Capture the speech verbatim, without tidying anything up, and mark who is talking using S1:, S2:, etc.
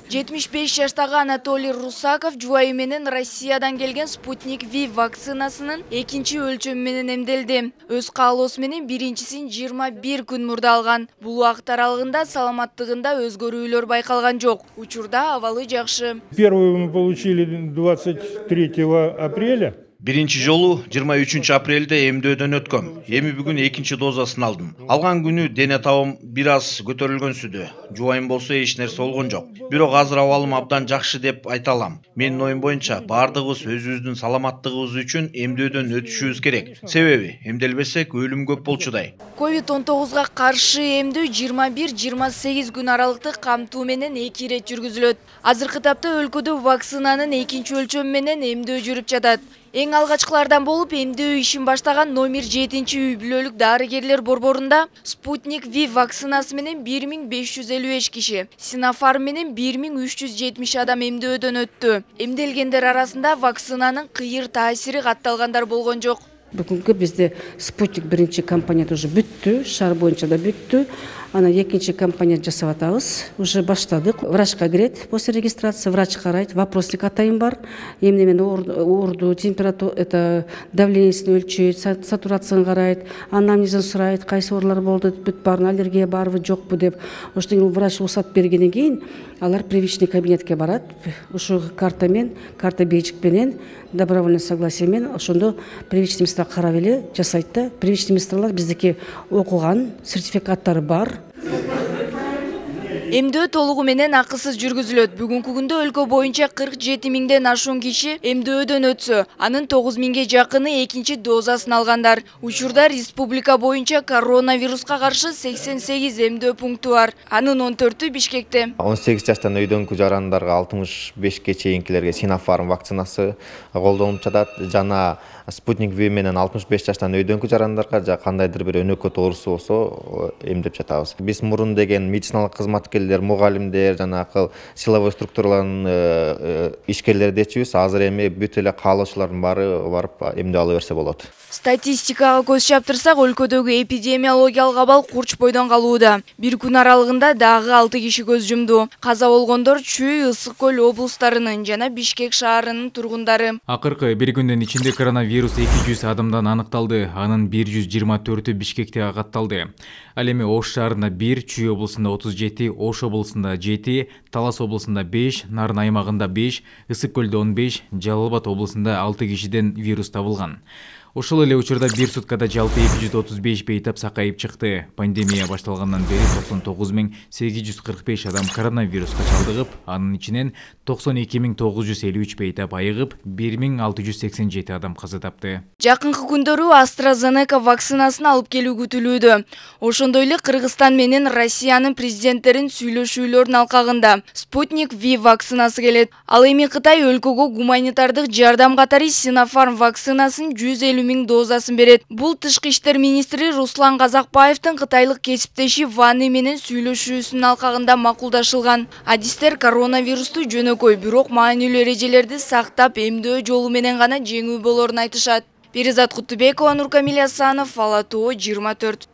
S1: жетимиш беш жаштагы Анатолий Русаков жубайы менен Россиядан келген Спутник Ви вакцинасынын экинчи өлчөмү менен эмделди. Өз каалоосу менен биринчисин жыйырма бир күн мурда алган. Бул убакыт аралыгында саламаттыгында өзгөрүүлөр байкалган жок. Учурда абалы жакшы.
S2: Первую мы получили двадцать третьего апреля.
S3: Биринчи жолу жыйырма үчүнчү апрелде эмдөөдөн өткөм. Эми бүгүн экинчи дозасын алдым. Алган күнү дене табым бир аз көтөрүлгөн сүдү. Жубайым болсо эч нерсе болгон жок. Бирок азыр абалым абдан жакшы деп айта алам. Менин оюм боюнча бардыгыбыз өзүбүздүн саламаттыгыбыз үчүн эмдөөдөн өтүшүбүз керек. Себеби эмделбесек өлүм көп болчудай.
S1: ковид он тогузга каршы эмдөө жыйырма бир жыйырма сегиз күн аралыкты камтуу менен эки ирет жүргүзүлөт. Азыркы тапта өлкөдө вакцинанын экинчи өлчөмү менен эмдөө жүрүп жатат. Эң алгачкылардан болуп эмдөө ишин баштаган номер жетинчи үй бүлөлүк дарыгерлер борборунда Спутник Ви вакцинасы менен бир миң беш жүз элүү беш киши, Sinopharm менен бир миң үч жүз жетимиш адам эмдөөдөн өттү. Эмделгендер арасында вакцинанын кыйыр таасири катталгандар болгон жок.
S4: Бүгүнкү бизде Спутник биринчи кампания уже бүттү, шаар боюнча да бүттү. Ана экинчи кампания жасап атабыз. Уже баштадык. Врачка кирет после регистрации, врач карайт, вопросник атайын бар. Эмне менен оорду, температура, это давлениесин өлчөйт, сатурациясын карайт, анамнезин сурайт, кайсы оорулар болду, бүт баарын аллергия барбы, жокпу деп. Ошондон врач уруксат бергенден кийин алар привычный кабинетке барат. Ушул карта менен, карта бейжик менен, добровольное согласие менен ошондо привычный места карап эле жасайт да. Привычный месталар биздики окуган, сертификаттары бар.
S1: Эмдөө толугу менен акысыз жүргүзүлөт. Бүгүнкү күндө өлкө боюнча кырк жети миңден ашуун киши эмдөөдөн өтсө, анын тогуз миңге жакыны экинчи дозасын алгандар. Учурда республика боюнча коронавируска каршы сексен сегиз эмдөө пункту бар. Анын он төртү Бишкекте.
S5: он сегиз жаштан өйдөнгү жарандарга алтымыш бешке чейинкилерге Sinopharm вакцинасы колдонулуп жатат. Жана Спутник Ви менен алтымыш беш жаштан өйдөнгү жарандарга жа кандайдыр бир өнөкөт оорусу болсо эмдеп жатабыз. Биз мурун деген медициналык кызматкерлер, мугалимдер, жанагы силовой структуралардын ишкерлери дечүбүз. Азыр эми бүт эле каалоочулардын баары барып эмдөө ала берсе болот.
S1: Статистикага көз чаптырсак, өлкөдөгү эпидемиологиялык абал курч бойдон калууда. Бир күн аралыгында дагы алты киши көз жумду. Каза болгондор Чүй, Ысык көл облустарынын жана Бишкек шаарынын тургундары.
S6: Акыркы бир күндүн ичинде коронавирус эки жүз адамдан аныкталды. Анын бир жүз жыйырма төртү Бишкекте катталды. Ал эми Ош шаарында бир, Чүй облусунда отуз жети, Ош облусунда жети, Талас облусунда беш, Нарын аймагында беш, Ысык көлдө он беш, Жалал Абад облусунда алты кишиден вирус табылган. Ошол эле учурда бир суткада жалпы эки жүз отуз беш бейтап сакайып чыкты. Пандемия башталгандан бери токсон тогуз миң сегиз жүз кырк беш адам коронавируска чалдыгып, анын ичинен токсон эки миң тогуз жүз элүү үч бейтап айыгып, бир миң алты жүз сексен жети адам каза тапты.
S1: Жакынкы күндөрү AstraZeneca вакцинасын алып келүү күтүлүүдө. Ошондой эле Кыргызстан менен Россиянын президенттерин сүйлөшүүлөрүнүн алкагында Спутник Ви вакцинасы келет. Ал эми Кытай өлкөгө гуманитардык жардам катары Sinopharm вакцинасын жүз элүү миң дозасын берет. Бул тышкы иштер министри Руслан Казакбаевдин кытайлык кесиптеши Ваны менен сүйлөшүүсүнүн алкагында макулдашылган. Адистер коронавирусту жөнөкөй, бирок маанилүү эрежелерди сактап эмдөө жолу менен гана жеңүү болорун айтышат. Перизат Кутубекова, Нуркамил Асанов, Ала Тоо жыйырма төрт.